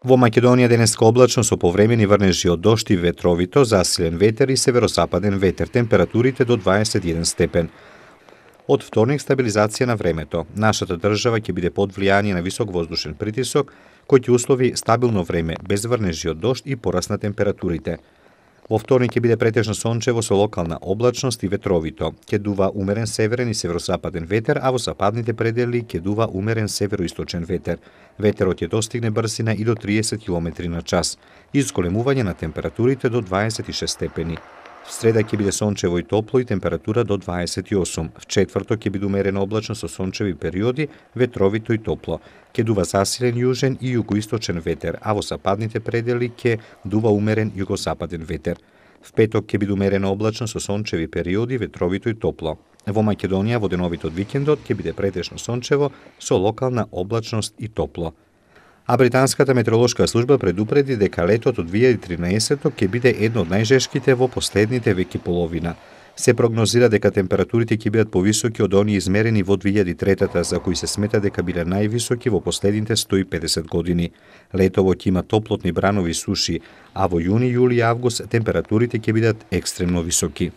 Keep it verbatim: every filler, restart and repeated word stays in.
Во Македонија денеска облачно со повремени врнежи од дожд и ветровито, засилен ветер и северозападен ветер, температурите до дваесет и еден степен. Од вторник стабилизација на времето. Нашата држава ќе биде под влијание на висок воздушен притисок, кој ќе услови стабилно време, без врнежи од дожд и пораст на температурите. Во вторник ќе биде претежно сончево со локална облачност и ветровито. Ќе дува умерен северен и северозападен ветер, а во западните предели ќе дува умерен североисточен ветер. Ветерот ќе достигне брзина и до триесет километри на час. Изголемување на температурите до дваесет и шест степени. В среда ќе биде сончево и топло и температура до дваесет и осум. В четврток ќе биде умерено облачно со сончеви периоди, ветровито и топло. Ќе дува засилен јужен и југоисточен ветер, а во западните предели ќе дува умерен југозападен ветер. В петок ќе биде умерено облачно со сончеви периоди, ветровито и топло. Во Македонија во деновите од викендот ќе биде претежно сончево со локална облачност и топло. А британската метеоролошка служба предупреди дека летот од две илјади и тринаесетто ќе биде едно од најжешките во последните веки половина. Се прогнозира дека температурите ќе бидат повисоки од оние измерени во две илјади и третата, за кои се смета дека биле највисоки во последните сто и педесет години. Летово ќе има топлотни бранови суши, а во јуни, јули и август температурите ќе бидат екстремно високи.